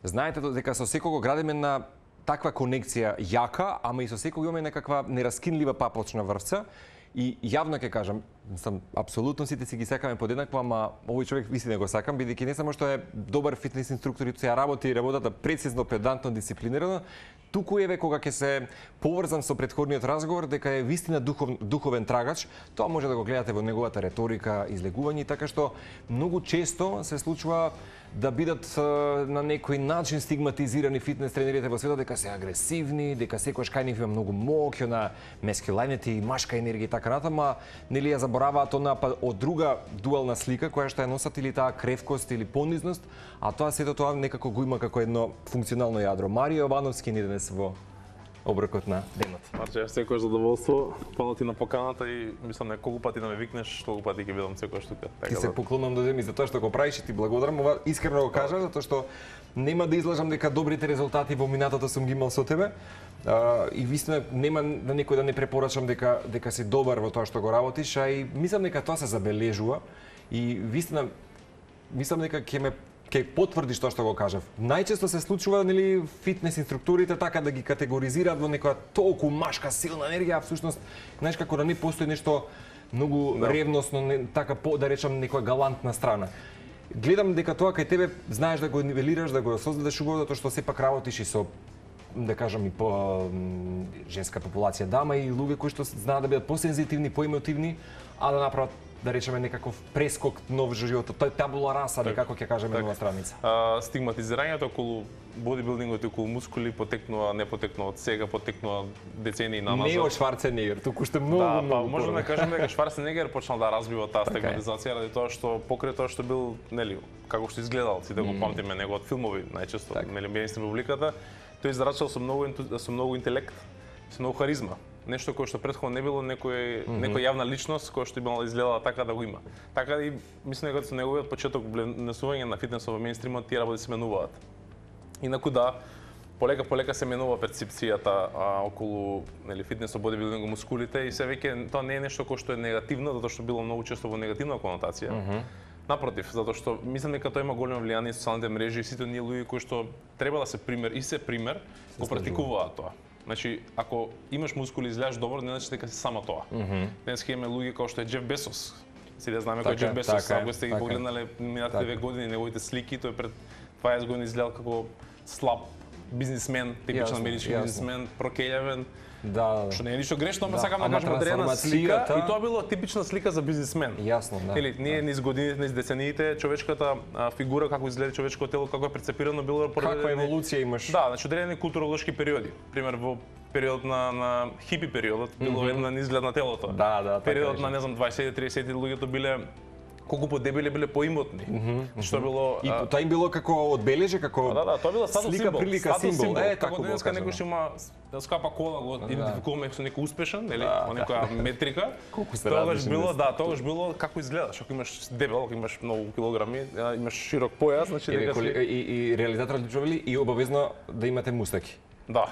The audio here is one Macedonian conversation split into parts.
знаете дека со секого градиме на таква конекција јака, ама и со секого имаме некаква нераскинлива папочна врвца. И јавно ќе кажам, апсолутно сите си ги сакаме подеднакво, ама овој човек вистина го сакам, бидејќи не само што е добар фитнес инструктор и ја работи работата прецизно, педантно, дисциплинирано, туку еве кога ќе се поврзам со претходниот разговор дека е вистина духовен трагач, тоа може да го гледате во неговата реторика, излегување, така што многу често се случува да бидат на некој начин стигматизирани фитнес тренерите во светот, дека се агресивни, дека секојаш кај нив има многу моќ, на masculinity, машка енергија и така натаму, нели ја забораваат она од друга дуална слика која што ја носат или таа кревкост или понизност, а тоа сето тоа некако го има како едно функционално јадро. Марио Јовановски ни денес во оброкот на денот. Марче, секој задоволство, фала ти на поканата и мислам неколку пати да ме викнеш, толку пати ќе бидам секојаш тука. Ти се поклонам до земји за тоа што го правиш и ти благодарам. Ова искрено го кажам затоа што нема да излажам дека добрите резултати во минатото сум ги имал со тебе. И вистина нема на некој да не препорачам дека си добар во тоа што го работиш, а и мислам дека тоа се забележува и вистина мислам дека ќе потврдиш тоа што го кажав. Најчесто се случува нели фитнес инструкторите така да ги категоризираат во некоја толку машка силна енергија, а всушност знаеш како да не постои нешто многу ревносно, така да речам некоја галантна страна. Гледам дека тоа кај тебе знаеш да го нивелираш, да го создадеш убаво, затоа што сепак работиш и со да кажам и по женска популација дама и луѓе кои што знаат да бидат посензитивни, поемотивни, а да направат да речеме некаков прескок нов животот, тој табула раса, како ќе кажеме на страница. Стигматизирањето околу бодибилдингот и околу мускули потекнува, не потекнува од сега, потекнува децении назад. Не од Шварценегер, туку што многу. Да, можеме да кажеме дека Шварценегер почнал да развива таа стигматизација ради тоа што покрај тоа што бил, нели, како што изгледал, си да го памтиме неговот филмови најчесто, нели, мејнстрим публиката, тој зарачал со многу интелект, со многу харизма. Нешто кое што претходно не било некоја јавна личност која што имала изгледала така да го има. Така и мислам дека со неговиот почеток внесување на фитнесот во мејнстримот тие работи се менуваат. Инаку да, полека се менува перцепцијата околу нели фитнесот, бодибилдингот, мускулите и се веќе тоа не е нешто кое што е негативно, затоа што било многу често во негативна конотација. Напротив, затоа што мислам дека тоа има големо влијание на социјалните мрежи и сите оние луѓе кои што треба да се пример и се пример го практикуваат тоа. Значи, ако имаш мускули и изгледаш добро, не значи дека си само тоа. Денеска имаме луѓе како што е Џеф Безос. Сите знаеме кој е Џеф Безос, ако сте ги погледнале минатите 2 години неговите слики, тој пред 20 години изгледал како слаб бизнисмен, типичен амерички бизнисмен, прокељавен. Да. Што не е ништо грешно, ама сакам да кажам одредена слика и тоа било типична слика за бизнисмен. Јасно, да. Или ние низ годините, низ децениите, човечката фигура како изгледа човечкото тело, како е прецепирано било каква еволуција имаш? Да, значи одредени културолошки периоди. Пример во периодот на хипи периодот било една изглед на телото. Да, периодот на не знам 20-30 луѓето биле колку подебели биле поимотни. Што било и тоа им било како одбележје, како да, тоа било статус символ, прилика символ. Како денеска некој што има скапа кола, го идентификуваме со некој успешен, или некоја метрика. Тогаш било како изгледаш, ако имаш дебел, ако имаш многу килограми, имаш широк појас, значи дека и реализаторот вели и обавезно да имате мустаки. Да,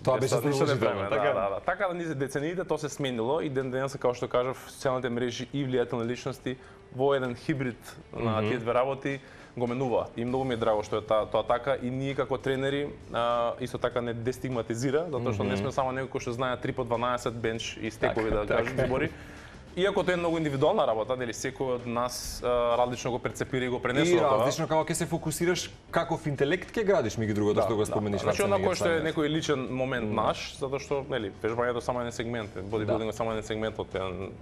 тоа беше задолжително, така. Така да низ децениите тоа се сменило и денеска како што кажав, социјалните мрежи и влијателни личности во еден хибрид на тие две работи го менуваат. И многу ми е драго што е тоа така и ние како тренери исто така не дестигматизира, затоа што не сме само некој кој што знае 3 по 12 бенч и стекови да кажат збори. Иако тоа е многу индивидуална работа, дали секој од нас различно го перцепира и го пренесува тоа. И различно како ќе се фокусираш каков интелект ќе градиш меѓу другото што го спомениш. Значи она кој што е некој личен момент наш, затоа што нели вежбањето само еден сегмент, бодибилдингот само еден сегмент од еден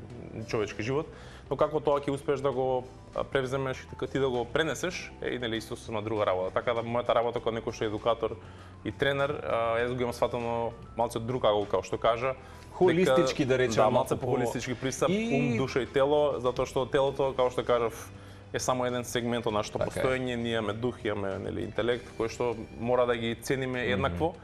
човечки живот, но како тоа ќе успееш да го превземеш и ти да го пренесеш е нели исто со друга работа. Така да мојата работа како некој што е едукатор и тренер, јас го имам сватено малце друг ангол како што кажа. Холистички да речеме, да, малце по холистички пристап, ум, душа и тело, затоа што телото, како што кажав, е само еден сегмент од нашето постоење, ние имаме дух, имаме нели интелект кој што мора да ги цениме еднакво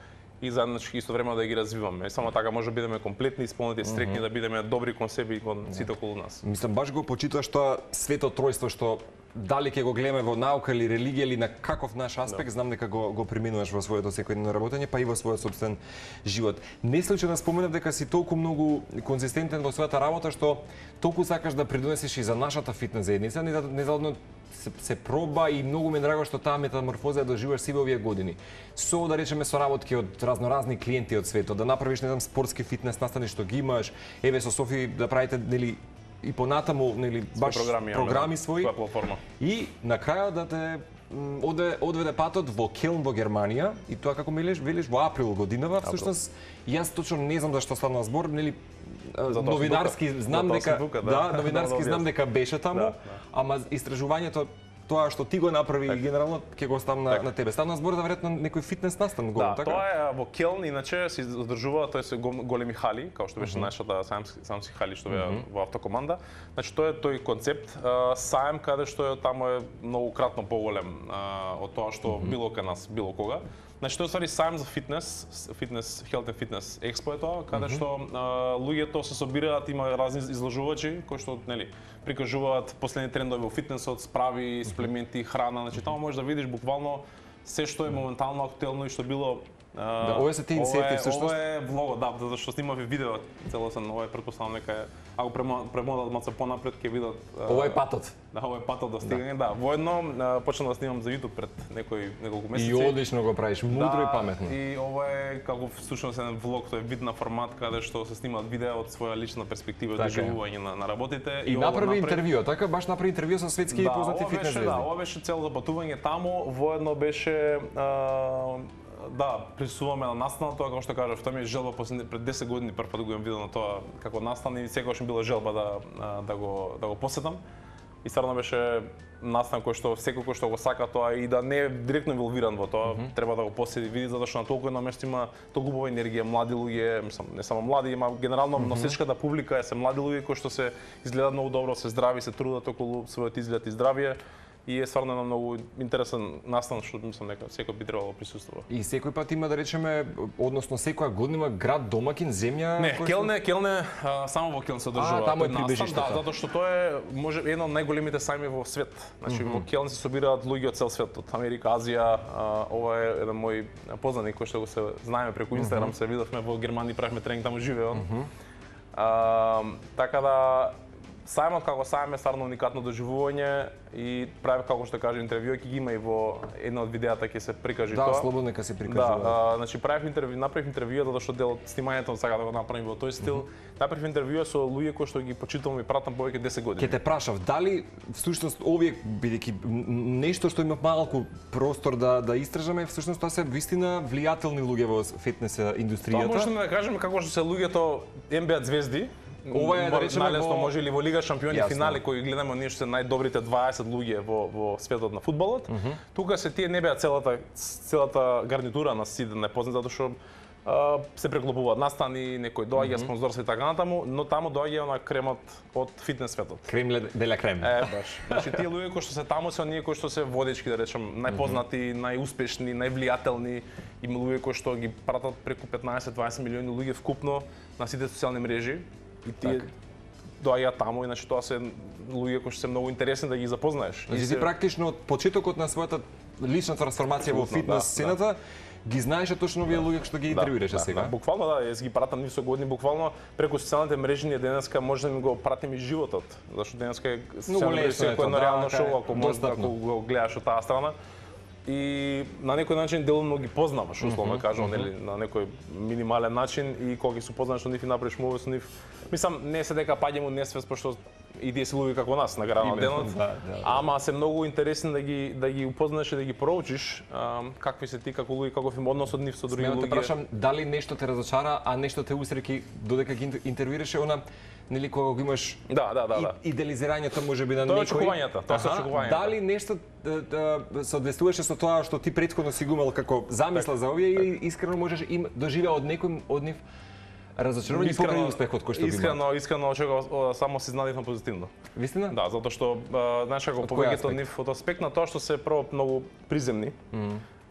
и заеднички исто време да ги развиваме. Само така може да бидеме комплетни, исполнети, стрекни, да бидеме добри кон себе и кон сите околу нас. Мислам баш го почитуваш тоа свето тројство што дали ќе го гледаме во наука или религија или на каков наш аспект, знам дека го преминуваш во своето секојдневно работење, па и во својот собствен живот. Не случајно споменав дека си толку многу конзистентен во својата работа што толку сакаш да придонесеш и за нашата фитнес заедница, незадовно се проба и многу ми е драго што таа метаморфоза ја доживаш сиве овие години. Со, да речеме, соработки од разноразни клиенти од светот, да направиш, не знам, спортски фитнес настани што ги имаш, еве со Софи да правите, нели, и понатаму, нели, баш програми своји. И на крајот да те одведе патот во Келн во Германија, и тоа како велиш во април годинава, всушност јас точно не знам зашто станува збор, нели, новинарски знам дека новинарски знам дека беше таму, ама истражувањето тоа што ти го направи и генерално ќе го оставам на тебе. Станува збор за веројатно некој фитнес настан голем, така? Да, тоа е во Келн, иначе се одржува, тоа се големи хали, како што беше нашата самски хали што беа во автокоманда. Значи тоа е тој концепт саем каде што таму е многократно поголем од тоа што било кај нас, било кога. Значи тоа е ствари саем за фитнес, Health and Fitness Expo е тоа, каде што луѓето се собираат, има разни изложувачи кои што, нели, прикажуваат последни трендови во фитнесот, справи, суплементи, храна, значи таму можеш да видиш буквално се што е моментално актуелно и што било. Да, овие се тие инсети всушност. Ова е влогот, да, затоа што снимавме видео целосно, ова е претпоставам дека ако премодат маца понапред ќе видат. Ова е патот. Да, ова е патот до стигање, да. Воедно почнав да снимам за YouTube пред неколку месеци. И одлично го правиш, мудро и паметно. И ова е како всушност еден влог, тој е вид на формат каде што се снимаат видеа од своја лична перспектива, доживување на работите. И направи интервју, така баш направи интервју со светски познати фитнес звезди. Да, ова беше цело патување таму, воедно беше да, присуствуваме на настана, тоа како што кажав, тоа ми е желба пред 10 години прв пат го имам видено тоа како настан и секогаш ми била желба да го посетам. И стварно беше настан кој што секој кој што го сака тоа и да не е директно инволвиран во тоа, треба да го посети, види затоа што на толку едно место има толку убава енергија, млади луѓе, мислам, не само млади, има генерално носечката публика се млади луѓе кои што се изгледаат многу добро, се здрави, се трудат околу својот изглед и здравје. И е стварно едно многу интересен настан што мислам дека секој би требало да присуствува. И секој пат има да речеме, односно секоја година има град домакин, земја. Не, Келн е само во Келн се одржува. Таму е прибежиштето. Да, затоа што тоа е може едно од најголемите сајми во свет. Значи во Келн се собираат луѓе од цел свет, од Америка, Азија. Ова е еден мој познаник кој што го се знаеме преку Инстаграм, се видовме во Германија, правевме тренинг, таму живее он. Така да сајмот како сајм е стварно уникатно доживување и прави како што кажа интервју, ќе ги има и во една од видеата ќе се прикажи тоа. Да, слободно ќе се прикажува. Да, значи направив интервју затоа што дел од снимањето сака да го направим во тој стил. Направив интервју со луѓе кои што ги почитувам и пратам повеќе 10 години. Ќе те прашав дали всушност овие бидејќи нешто што имав малку простор да истражаме, всушност тоа се вистина влијателни луѓе во фитнес индустријата. Тоа можеме да кажеме како што се луѓето NBA звезди. Ова е да речеме најлесно може или во Лига шампиони финали кои гледаме ние што се најдобрите 20 луѓе во светот на фудбалот. Тука се тие не беа целата гарнитура на сите непознати затоа што се преклопуваат настани, некој доаѓа спонзорство и така натаму, но таму доаѓа она кремот од фитнес светот. Крем де ла крем. Баш. Значи тие луѓе кои што се таму се оние кои што се водечки, да речем, најпознати, најуспешни, највлијателни, има луѓе кои што ги пратат преку 15-20 милиони луѓе вкупно на сите социјални мрежи. И тие доаѓаат таму, иначе тоа се луѓе кои што се многу интересни да ги запознаеш. Значи ти практично од почетокот на својата лична трансформација во фитнес сцената ги знаеше точно овие луѓе што ги интервјуираше сега. Буквално да, јас ги пратам нив со години, буквално преку социјалните мрежи ние денеска може да ми го пратим и животот, зашто денеска е секој едно реално шоу ако може да го гледаш од таа страна. И на некој начин делумно ги познаваш, условно кажам, нели, на некој минимален начин и кога ги се познаваш со нив и направиш муви со нив, мислам не се дека паѓаме у несвест пошто и тие се луѓе како нас на крајот на денот, ама се многу интересни да ги упознаеш и да ги проучиш какви се ти како луѓе, каков им однос од нив со други луѓе. Те прашам дали нешто те разочара, а нешто те усреќи додека ги интервјуираше она нели кога го имаш идеализирањето можеби на некој. Тоа се очекувањата. Дали нешто соодветствуваше со тоа што ти претходно си го имал како замисла за овие или искрено можеш им доживеа од некој од нив разочарување покрај успехот кој што ги има? Искрено очекував само се изненадивме позитивно. Вистина? Да, затоа што знаеш како повеќето од нив од аспект на тоа што се прво многу приземни.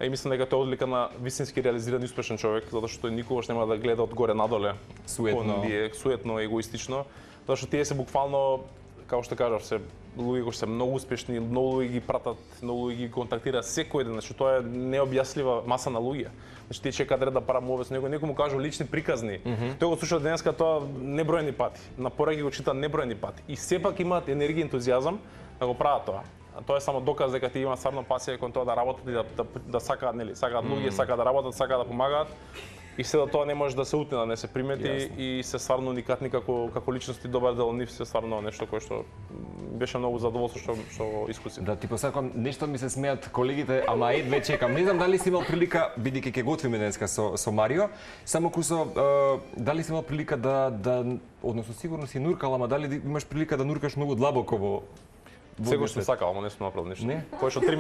И мислам дека тоа е одлика на вистински реализиран и успешен човек, затоа што тој никогаш нема да гледа од горе надоле. Суетно. Суетно, егоистично. Затоа што тие се буквално како што кажав, се луѓе кои се многу успешни, многу луѓе ги пратат, многу луѓе ги контактираат секој ден, значи тоа е необјаснлива маса на луѓе. Значи тие чекаат ред да правам овој со него, некој му кажа лични приказни. Тој го слуша денеска тоа небројни пати. На пораки го чита небројни пати. И сепак имаат енергија и ентузијазам да го прават тоа. А тоа е само доказ дека тие имаат стварно пасија кон тоа да работат и да сакаат, нели, сакаат луѓе, сакаат да работат, сакаат да помагаат. И се тоа не може да се утне, да не се примети и се стварно уникатни како личности, добар дел од нив се стварно нешто кое што беше многу задоволство што искусив. Да ти посакам, нешто ми се смеат колегите, ама едве чекам. Не знам дали си имал прилика, бидејќи ќе готвиме денеска со Марио, само кусо дали си имал прилика да односно сигурно си нуркал, ама дали имаш прилика да нуркаш многу длабоко во Секој што сакал, ама не сум направил ништо. Повеќе од 3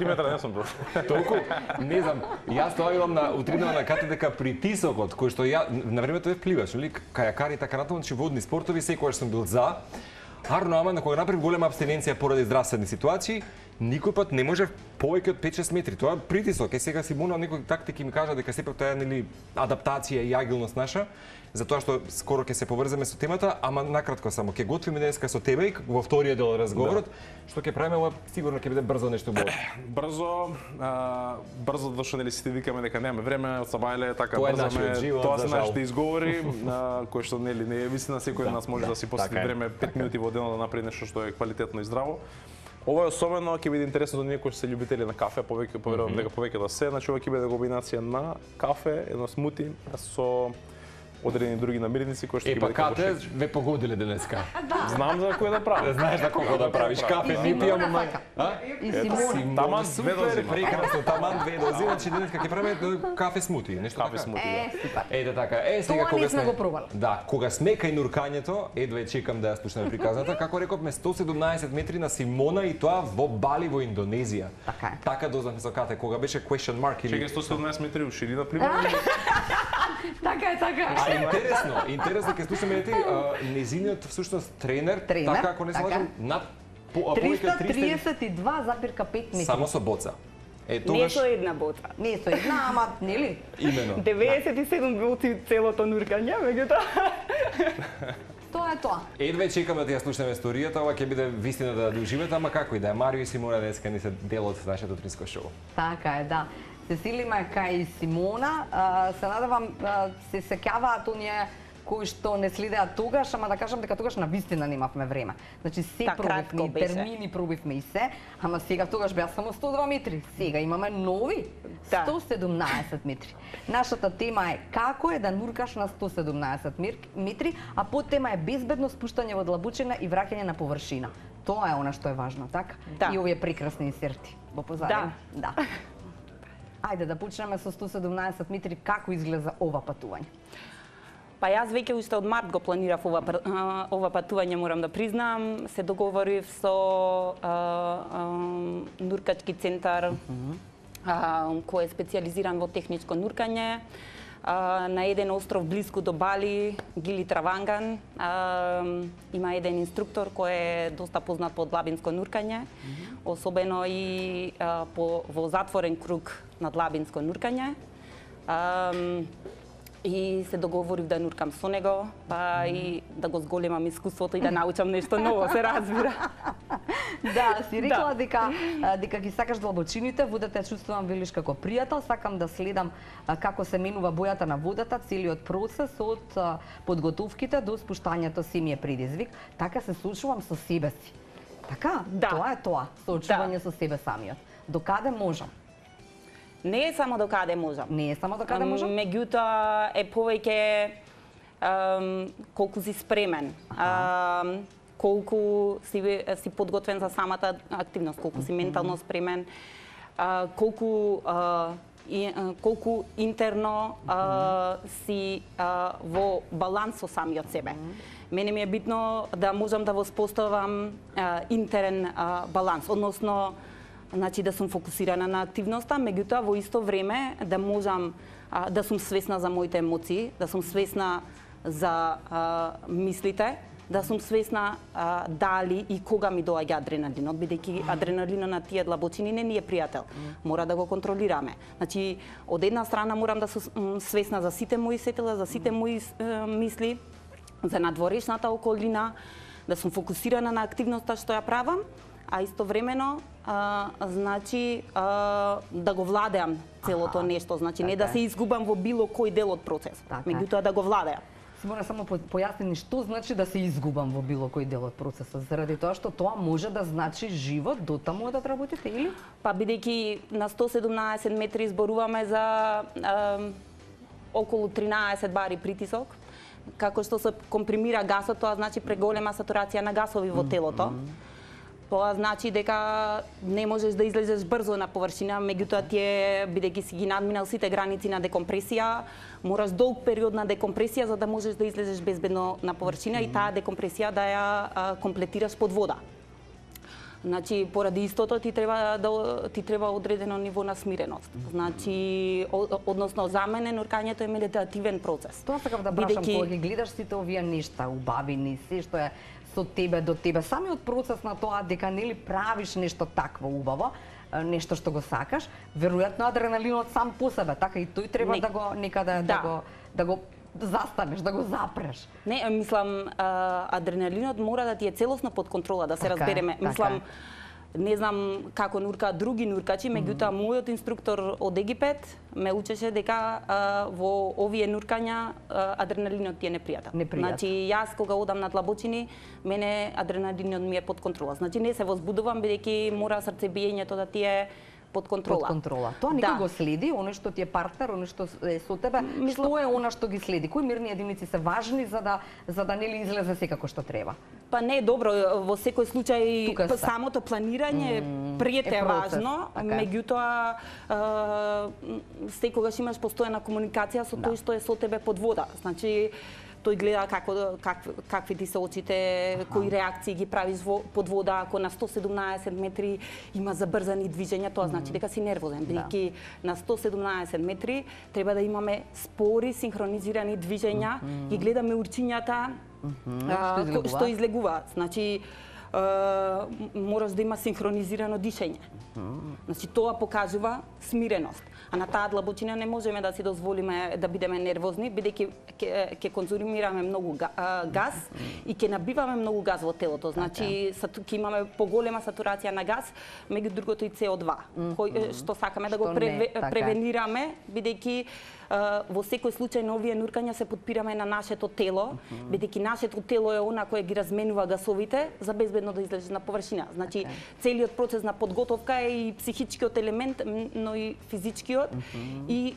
метра не сум бил. Толку, не знам, јас тоа имам утринава на кате дека притисокот кој што ја на времето е впливаш, нели, кајакари и така натаму, значи водни спортови секогаш сум бил за. Арно, ама на кога направив голема абстиненција поради здравствени ситуации, никој пат не може повеќе од 5-6 метри. Тоа е притисок. Сега Симона некои тактики ми кажа дека сепак тоа е, нели, адаптација и агилност наша, затоа што скоро ќе се поврземе со темата, ама накратко само ќе готвиме денеска со тебе и во вториот дел разговорот, што ќе правиме ова сигурно ќе биде брзо нешто Брзо, зашто нели сите викаме дека немаме време, од Сабајле така брзаме. Тоа се нашите изговори, кои што нели не е вистина, секој од нас може да си посвети време 5 минути во денот да направи нешто што е квалитетно и здраво. Ова е особено ќе биде интересно за оние кои се љубители на кафе, повеќе поверувам дека повеќе да се, значи ова ќе биде комбинација на кафе, едно смути со одредени други намирници кои што ќе бидат кафе ве погодиле денеска. Знам за кој да правам. Знаеш за кого да правиш кафе, не пијам, ама И Симона. Таман две дози. Прекрасно, таман две дози, значи денеска ќе правиме кафе смути, нешто кафе смути. Ете така. Сега кога сме го пробали. Да, кога сме кај нуркањето, едве чекам да ја слушнеме приказната, како рековме 117 метри на Симона и тоа во Бали во Индонезија. Така е. Така дознавме со Кате, кога беше question mark или Чекај 117 метри у ширина примерно. Така е. Интересно ќе слушаме незиниот всушност тренер, така ако не се лажам, над 332,5 метри. Само со боца. Не со една боца. Не со една, ама нели? Имено. 97 боци целото нуркање, меѓутоа. Тоа е тоа. Едве чекаме да ја слушнеме историјата, ова ќе биде вистина да доживеете, ама како и да е, Марио и Симона денеска не се дел од нашето утринско шоу. Така е, да. Се силиме кај Симона, се надевам се сеќаваат оние кои што не следеа тогаш, ама да кажам дека тогаш на вистина немавме време. Значи се пробивме, термини пробивме и се, ама сега тогаш беа само 102 метри. Сега имаме нови 117 метри. Нашата тема е како е да нуркаш на 117 метри, а подтема е безбедно спуштање во длабочина и враќање на површина. Тоа е она што е важно, така? И овие прекрасни инсерти во позадина. Да. Ајде да почнеме со 117 метри, како изгледа ова патување? Па јас веќе уште од март го планирав ова патување, морам да признам. Се договорив со нуркачки центар кој е специализиран во техничко нуркање на еден остров блиску до Бали, Гили Траванган. Има еден инструктор кој е доста познат по длабинско нуркање, особено и во затворен круг на длабинско нуркање. И се договорив да нуркам со него, па и да го зголемам искуството и да научам нешто ново, се разбира. Да, си рекла дека ги сакаш длабочините, водата ја чувствувам, велиш, како пријател, сакам да следам како се менува бојата на водата, целиот процес од подготовките до спуштањето си ми е предизвик, така се соочувам со себе си. Така? Тоа е тоа, соочување со себе самиот. До каде можам? Не е само до каде можам. Не е само до каде можам? Меѓутоа е повеќе колку си спремен, колку си подготвен за самата активност, колку си ментално спремен, колку интерно си во баланс со самиот себе. Мене ми е битно да можам да воспоставам интерен баланс, односно значи да сум фокусирана на активноста, меѓутоа во исто време да можам да сум свесна за моите емоции, да сум свесна за мислите, да сум свесна дали и кога ми доаѓа адреналинот, бидејќи адреналинот на тие длабочини не ни е пријател. Мора да го контролираме. Значи, од една страна морам да сум свесна за сите мои сетила, за сите мои мисли, за надворешната околина, да сум фокусирана на активноста што ја правам, а истовремено значи да го владеам целото нешто, значи не да се изгубам во било кој дел од процесот, меѓутоа да го владеам. Симона, само појасни што значи да се изгубам во било кој дел од процесот, заради тоа што тоа може да значи живот до таму да работите или? Па бидејќи на 117 метри зборуваме за околу 13 бари притисок, како што се компримира гасот, тоа значи преголема сатурација на гасови во телото. Тоа значи дека не можеш да излезеш брзо на површина, меѓутоа тие, бидејќи си ги надминал сите граници на декомпресија, мораш долг период на декомпресија за да можеш да излезеш безбедно на површина и таа декомпресија да ја комплетираш под вода. Значи, поради истото ти треба одредено ниво на смиреност. Значи, односно за мене нуркањето е медитативен процес. Тоа сакав да прашам, кога ги гледаш сите овие нешта, убавини, се што е со тебе до тебе, самиот процес на тоа дека нели правиш нешто такво убаво, нешто што го сакаш, веројатно адреналинот сам по себе, така и тој треба да го некаде да го застанеш, да го запреш. Не, мислам, адреналинот мора да ти е целосно под контрола, да се разбереме. Мислам, не знам како нуркаат други нуркачи, меѓутоа мојот инструктор од Египет ме учеше дека во овие нуркања адреналинот ти е непријатен. Значи јас кога одам на длабочини, мене адреналинот ми е под контрола. Значи не се возбудувам бидејќи мора срцебиењето да ти е под контрола. Под контрола. Тоа никој го следи, оној што ти е партнер, оној што е со тебе, што е она што ги следи? Кои мерни единици се важни за да нели излезе секако што треба? Па не е добро, во секој случај самото планирање пред е важно, меѓутоа секогаш имаш постојана комуникација со тој што е со тебе под вода. Значи тој гледа какви ти се очите, кои реакции ги правиш под вода, ако на 117 метри има забрзани движења, тоа значи дека си нервозен, бидејќи на 117 метри треба да имаме спори, синхронизирани движења, ги гледаме урчињата што излегуваат. Значи мораш да има синхронизирано дишење. Значи тоа покажува смиреност. А на таа длабочина не можеме да си дозволиме да бидеме нервозни, бидејќи ќе конзумираме многу газ и ќе набиваме многу газ во телото. Значи ќе имаме поголема сатурација на газ, меѓу другото и CO2, кој што сакаме да го превенираме, бидејќи во секој случај на овие нуркања се подпираме на нашето тело, бидејќи нашето тело е она кое ги разменува гасовите за безбедно да излезеш на површина. Значи целиот процес на подготовка е и психичкиот елемент, но и физичкиот и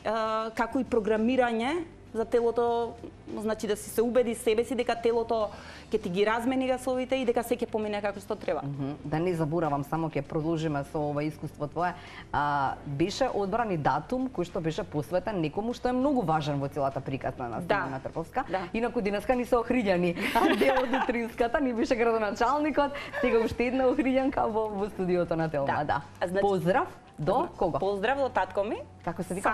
како и програмирање за телото, значи да си се убеди себе си дека телото ќе ти ги размени гасовите и дека се ќе помине како што треба. Да не заборавам, само ќе продолжиме со ова искуство твое. Беше одбран и датум кој што беше посветен некому што е многу важен во целата приказна на Симона Трповска. Инаку денеска ни се охриѓани. Дел од утринската ни беше градоначалникот, сега уште една охриѓанка во студиото на Телма. Поздрав до кого? Поздрав до татко ми. Како се вика?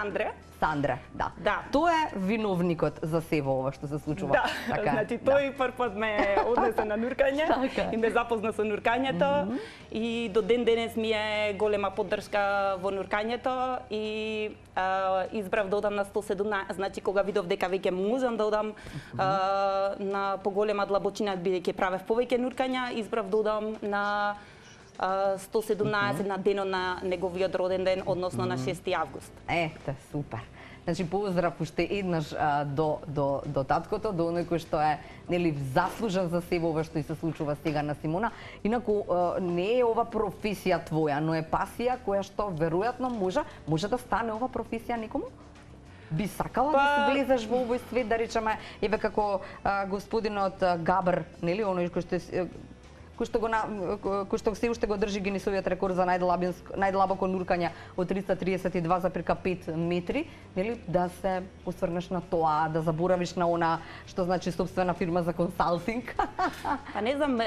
Сандре, да. Тој е виновникот за сево ова што се случува. Да, значи тој првпат ме однесе на нуркање и ме запозна со нуркањето и до ден денес ми е голема поддршка во нуркањето и избрав да одам на 117, значи кога видов дека веќе можам да одам на поголема длабочина бидејќи правев повеќе нуркања, избрав да одам на 117 на денот на неговиот роден ден, односно на 6 август. Ете, супер. Значи поздрав уште еднаш до таткото, до оној кој што е нели заслужен за себе ова што и се случува сега на Симона. Инаку не е ова професија твоја, но е пасија која што веројатно може да стане ова професија некому? Би сакала да се влезеш во овој свет, да речеме, еве како господинот Габр, нели, оној кој што се уште го држи Гинисовиот рекорд за најдлабоко нуркање од 332,5 метри, нели, да се осврнеш на тоа, да заборавиш на она што значи собствена фирма за консалтинг. Па не знам,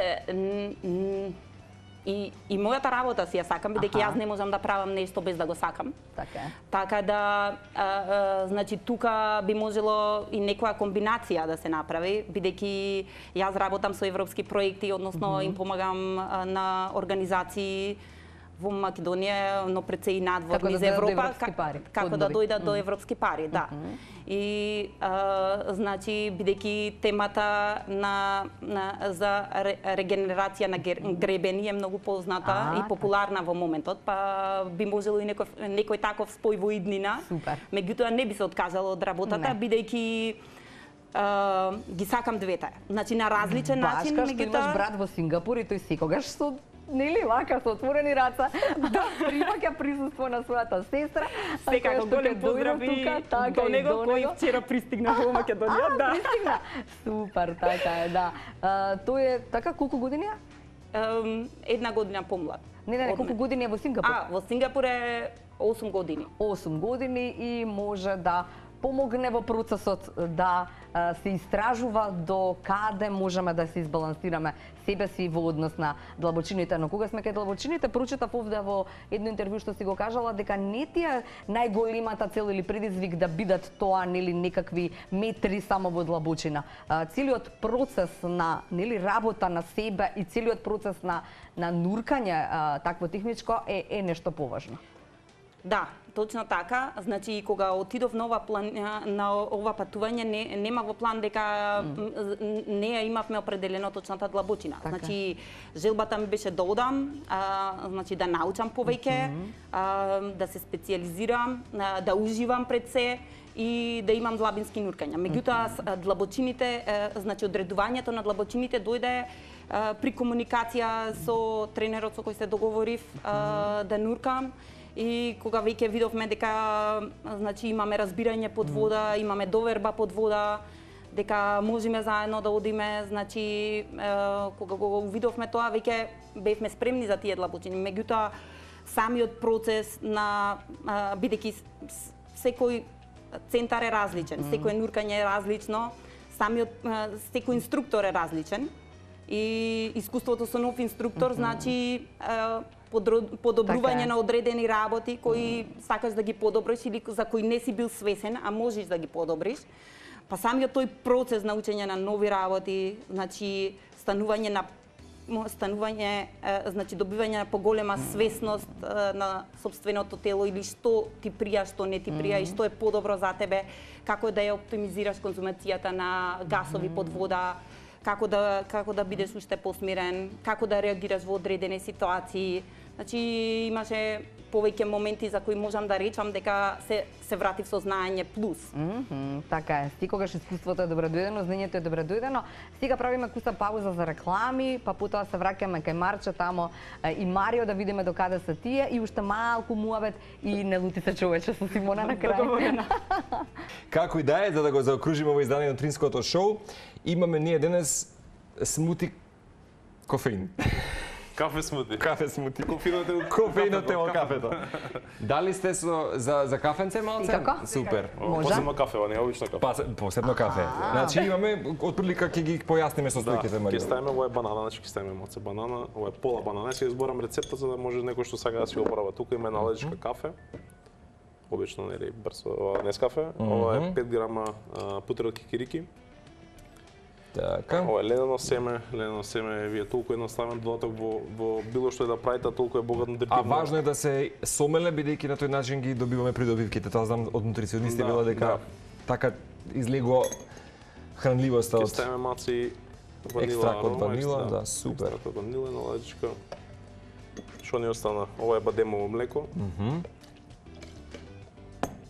и мојата работа си ја сакам, бидејќи јас не можам да правам нешто без да го сакам. Така да, значи тука би можело и некоја комбинација да се направи, бидејќи јас работам со европски проекти, односно им помагам на организации во Македонија, но пред се и надвор низ Европа, како да дојдат до европски пари, да. И значи бидејќи темата за регенерација на гребени е многу позната и популарна во моментот, па би можело и некој таков спој во иднина. Меѓутоа не би се откажала од работата, бидејќи ги сакам двете. Значи на различен начин, меѓутоа што имаш брат во Сингапур и тој секогаш со нели вака со отворени раца примаќа присуство на својата сестра. Секако голем поздрави до него кој вчера пристигна во Македонија. Да. Пристигна. Супер, така е, да. Тој е така колку години е? Една година помлад. Не, колку години е во Сингапур? Во Сингапур е 8 години. 8 години и може да помогне во процесот да се истражува до каде можеме да се избалансираме себе си во однос на длабочините. Но кога сме кај длабочините, прочитав овде во едно интервју што си го кажала дека не ти е најголемата цел или предизвик да бидат тоа нели некакви метри само во длабочина. Целиот процес на нели работа на себе и целиот процес на нуркање такво техничко е нешто поважно. Да, точно така. Значи, кога отидов на ова патување, нема во план дека не ја имавме определено точната длабочина. Така. Значи, желбата ми беше да одам, значи да научам повеќе, да се специализирам, да уживам пред се и да имам длабински нуркања. Меѓутоа, длабочините, значи одредувањето на длабочините дојде при комуникација со тренерот со кој се договорив да нуркам. И кога веќе видовме дека значи имаме разбирање под вода, имаме доверба под вода, дека можеме заедно да одиме, значи кога го видовме тоа веќе бевме спремни за тие длабочини. Меѓутоа самиот процес на бидејќи секој центар е различен, секој нуркање е различно, самиот секој инструктор е различен и искуството со нов инструктор значи подобрување на одредени работи кои сакаш да ги подобриш или за кои не си бил свесен, а можеш да ги подобриш. Па самиот тој процес на учење на нови работи, значи станување, значи добивање на поголема свесност на собственото тело или што ти прија, што не ти прија и што е подобро за тебе, како да ја оптимизираш конзумацијата на гасови под вода, како да бидеш уште посмирен, како да реагираш во одредени ситуации. Значи имаше повеќе моменти за кои можам да речам дека се вратив со знаење плюс. Така е. Секогаш искуството е добредојдено, знаењето е добредојдено. Сега правиме куса пауза за реклами, па потоа се враќаме кај Марче тамо и Марио да видиме до каде се тие и уште малку муавет и не лути се човече со Симона на крај. Како и да е, за да го заокружиме во издание на Утринското шоу, имаме ние денес смути кофеин. Кафе смути. Кафе смути. Кофеинот е во кафето. Дали сте за кафенце малце? Како? Супер. Посебно кафе, не обично кафе. Посебно кафе. Значи имаме отприлика ќе ги појасниме состојките, Марија. Ќе ставиме ова е банана, значи ќе ставиме малце банана, ова е пола банана. Ќе изборам рецепта за да може некој што сака да си оправа. Тука има една лежичка кафе. Обично нели брзо Нескафе. Ова е 5 грама путрел кикирики. Така. Ова е ледено семе, вие толку едноставен додаток во било што е да правите, толку е богат нутритивно. А важно е да се сомеле, бидејќи на тој начин ги добиваме придобивките. Тоа знам од нутриционисти било дека така излегува хранливоста од... Ќе ставиме маци ванила, екстракт од ванила, да, супер. Екстракт од ванила на лаџичка. Што ни остана? Ова е бадемово млеко.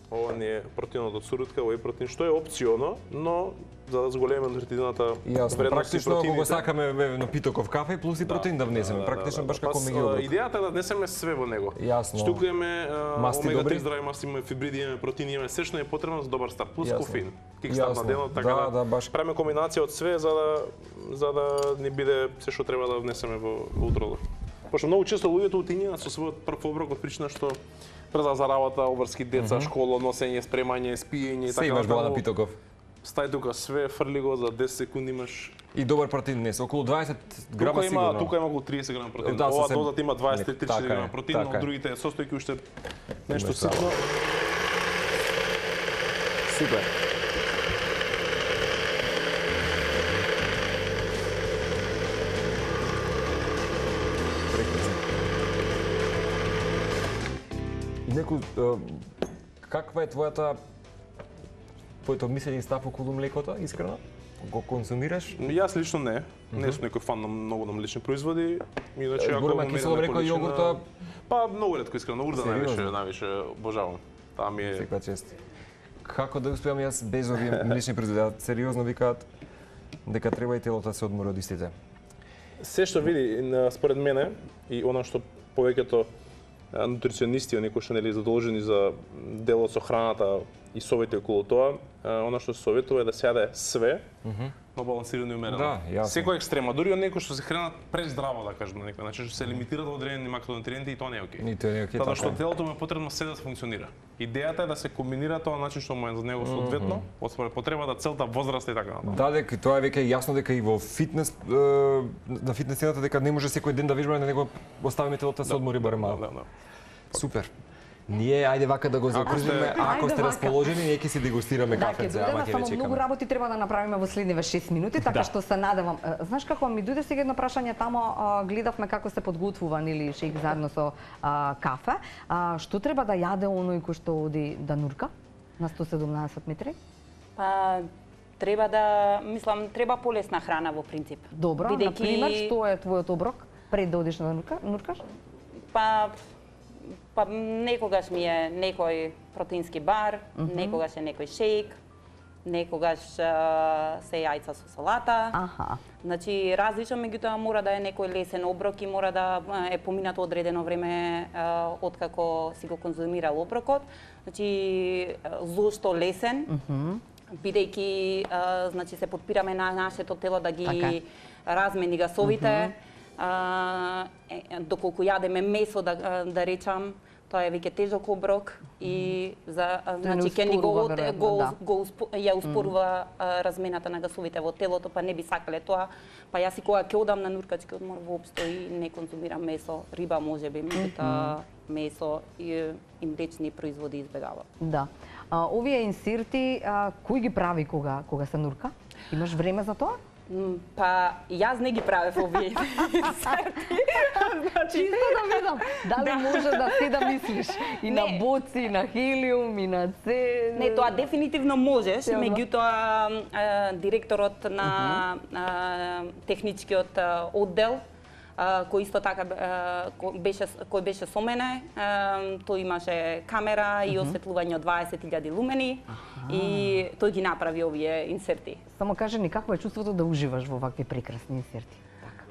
Ова ни е протеинот од сурутка, ова е протеин што е опционо, но за да зголемиме нутритивната вредност. Практично ако го сакаме напитоков кафе плюс и протеин да внесеме, практично баш како меѓу идејата е да внесеме све во него. Јасно. Што имаме омега 3 здрави маси, имаме фибриди, имаме протеини, имаме се што е потребно за добар старт, плюс кофеин. Кикстарт на денот, така да баш правиме комбинација од све за да ни биде се што треба да внесеме во утрото. Пошто многу често луѓето утинјаат со својот прв оброк од причина што преза за работа, обврски деца, школа, носење, спремање, спиење и така. Се имаш бала напитоков. Стај тука све, фрли го за 10 секунди имаш. И добар протеин днес, околу 20 грама сигурно. Тука има околу 30 грама протеин. Ова дозата има 23-34 грама протеин, но другите состојки уште нешто ситно. Супер. Неко, каква е твоето мислење и став околу млекото, искрено? Го консумираш? Јас лично не. Не сум некој фан на многу на млечни производи. Иначе ако зборуваме кисело млеко и јогурта. Па многу ретко искрено, урда највише обожавам. Таа ми е секоја чест. Како да успеам јас без овие млечни производи? Сериозно викаат дека треба и телото да се одмори од истите. Се што види според мене и она што повеќето нутриционисти, оние кои што нели задолжени за делот со храната и совети околу тоа, она што се советува е да се јаде све, но балансирано и умерено. Да, јасно. Секој екстрема, дури од некои што се хранат прездраво, да кажем на некој начин, што се лимитираат одредени макронутриенти и тоа не е окей. И тоа не е окей. Затоа што телото му е потребно се да се функционира. Идејата е да се комбинира тоа начин што му е за него соодветно, од според потребата, целта, возраста и така натаму. Да, дека тоа е веќе јасно дека и во фитнес на фитнес сцената дека не може секој ден да вежбаме, да него оставиме телото да се одмори барем малку. Супер. Ние, ајде вака да го закружиме, ако сте расположени, ние ќе си дегустираме кафе за ама ќе само многу работи треба да направиме во следниве 6 минути, така што се надевам. Знаеш како ми дојде сега едно прашање тамо, гледавме како се подготвува нели шејк заедно со кафе. Што треба да јаде оној кој што оди да нурка на 117 метри? Па треба да, мислам, треба полесна храна во принцип. Добро, на пример, што е твојот оброк пред да одиш да нуркаш? Па некогаш ми е некој протеински бар, некогаш е некој шејк, некогаш се јајца со салата. Значи различно, меѓутоа мора да е некој лесен оброк и мора да е поминато одредено време откако си го конзумирал оброкот. Значи зошто лесен? Бидејќи значи се подпираме на нашето тело да ги размени гасовите. Доколку јадеме месо, да речам, тоа е веќе тежок оброк и значи ќе ни ја успорува размената на гасовите во телото, па не би сакале тоа. Па јас и кога ќе одам на нуркачки одмор воопшто и не конзумирам месо, риба можеби, меѓутоа месо и млечни производи избегавам. Да. Овие инсерти кој ги прави кога се нурка? Имаш време за тоа? Па јас не ги правев овие. Чисто да видам дали може да си да мислиш и на боци, и на хелиум, и на се. Не, тоа дефинитивно можеш, меѓутоа директорот на техничкиот оддел кој исто така кој беше со мене, тој имаше камера и осветлување од 20.000 лумени и тој ги направи овие инсерти. Само кажи ни какво е чувството да уживаш во вакви прекрасни инсерти?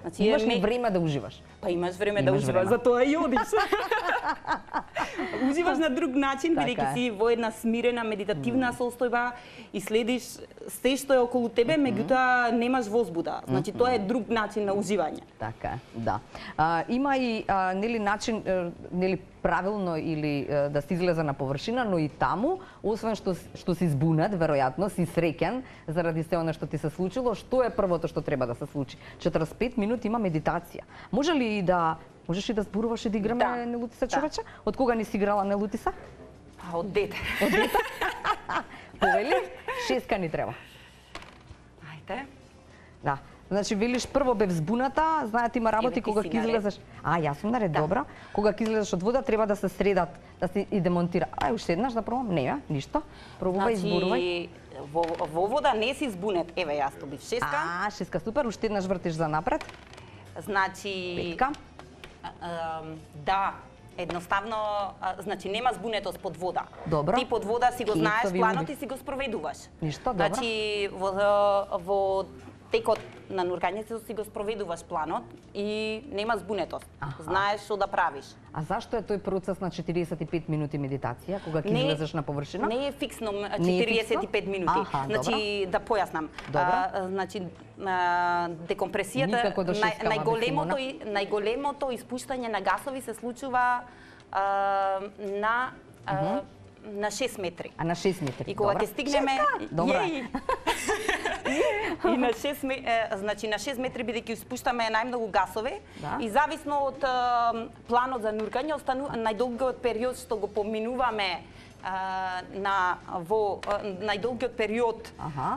Значи, имаш ли време да уживаш? Па имаш време да уживаш, затоа и одиш. Уживаш на друг начин, бидејќи си во една смирена медитативна состојба и следиш се што е околу тебе, меѓутоа немаш возбуда. Значи тоа е друг начин на уживање. Така е, да. Има и нели начин нели правилно или да се излезе на површина, но и таму, освен што си збунат, веројатно си среќен заради се она што ти се случило, што е првото што треба да се случи? 45 минути има медитација. Можеш ли да зборуваш и да играме Нелутиса, човече? Од кога не си играла Нелутиса? Од дете. Од дете? Повели, 6 ни треба. Ајде. Да. Значи, велиш прво бев збуната, знаете има работи кога ќе излезеш. Јас сум наред, добра. Кога ќе излезеш од вода треба да се средат, да се и демонтира. Уште еднаш да пробам? Не, ништо. Пробувај, зборувај. Во вода не си збунет. Еве јас добив 6. 6 супер, уште еднаш вртиш за напред. Значи 5. Да, едноставно, значи нема збунетост под вода. Добро. Ти под вода си го знаеш планот и си го спроведуваш. Ништо, добро. Значи во текот на нуркањето си го спроведуваш планот и нема збунетост. Знаеш што да правиш. А зашто е тој процес на 45 минути медитација кога ќе излезеш на површина? Не е фиксно 45 минути. Значи да појаснам. Значи декомпресијата најголемото испуштање на гасови се случува на 6 метри. На 6 метри. И кога ќе стигнеме, и на 6 значи на 6 метри бидејќи испуштаме најмногу гасови и зависно од планот за нуркање најдолгиот период што го поминуваме во најдолгиот период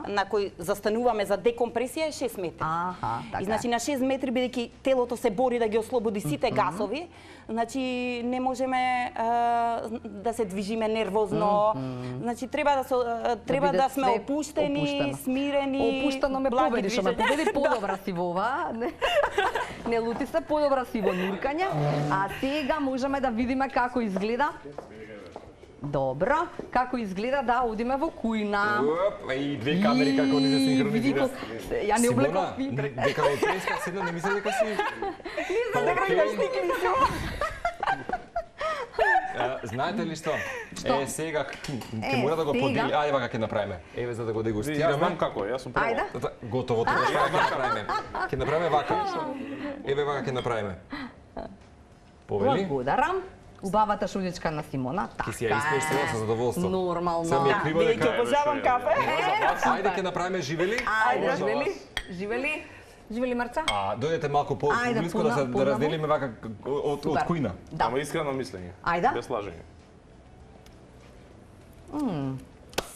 на кој застануваме за декомпресија е 6 метри. Така. И значи на 6 метри бидејќи телото се бори да ги ослободи сите гасови, значи не можеме да се движиме нервозно. Значи треба да сме опуштени, смирени. Опуштено ме победиш, ама победи подобра си во ова. Не лути се, подобра си во нуркање. А сега можеме да видиме како изгледа. Добро, како изгледа да одиме во кујна. И две камери како ни се синхронизира. Ја не облеков филтр. Дека во преска седна, не мислам дека си... Не знам дека имаш стиклицу. Знаете ли што? Сега ќе мора да го подели. Ајде вака ќе направиме. Еве за да го дегустираме. Јас знам како, јас сум пробал. Ајде. Готово, тоа што ќе направиме. Ќе направиме вака. Еве вака ќе направиме. Повели? Благодарам. Убавата шудичка на Симона. Ќе си ја испештила со задоволство. Нормално. Се ми е криво дека... обожавам кафе. Ајде ќе направиме живели. Ајде, живели. Живели Марца? Дојдете малку по-блиско да разделиме вака од кујна. Ама искрено мислење. Ајде. Без лажење.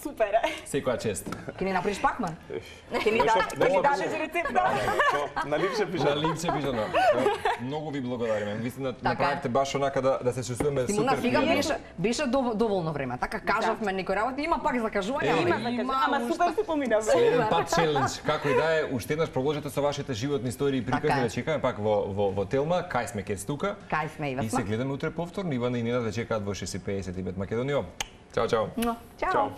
Супер. Секоја чест. Ќе ни направиш пакман? Ќе ни дадеш рецепта? На липче пише. На липче пишано. Многу ви благодариме. Вистина направивте баш онака да се чувствуваме Симона, супер. сега беше доволно време. Така кажавме некои работи, има пак закажување, Ама супер се поминавме. Следен пат челендж, како и да е, уште еднаш продолжете со вашите животни истории и приказни да чекаме пак во Телма, кај сме ке стука. Кај сме и И се гледаме утре повторно. Ивана и Нина да чекаат во 6:55 Македонијо. Чао, чао. Чао.